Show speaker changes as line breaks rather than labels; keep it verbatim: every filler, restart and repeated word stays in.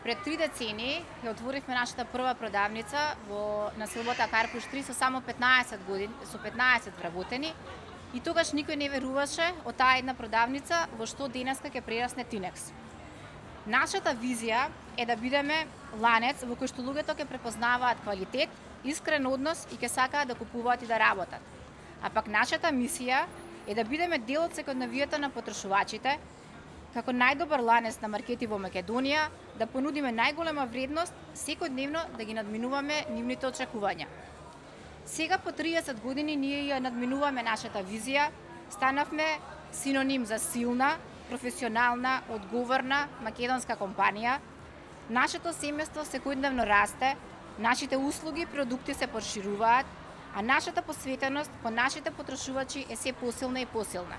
Пред три децении ја отворивме нашата прва продавница во населбата Карпуш три со само петнаесет години, со петнаесет вработени, и тогаш никој не веруваше од таа една продавница во што денеска ќе прерасне Тинекс. Нашата визија е да бидеме ланец во кој што луѓето ќе препознаваат квалитет, искрен однос и ќе сакаат да купуваат и да работат. А пак нашата мисија е да бидеме дел од секојдневието на потрошувачите, како најдобар ланец на маркети во Македонија, да понудиме најголема вредност, секојдневно да ги надминуваме нивните очекувања. Сега по триесет години ние ја надминуваме нашата визија, станавме синоним за силна, професионална, одговорна македонска компанија. Нашето семејство секојдневно расте, нашите услуги и продукти се прошируваат, а нашата посветеност кон нашите потрошувачи е се посилна и посилна.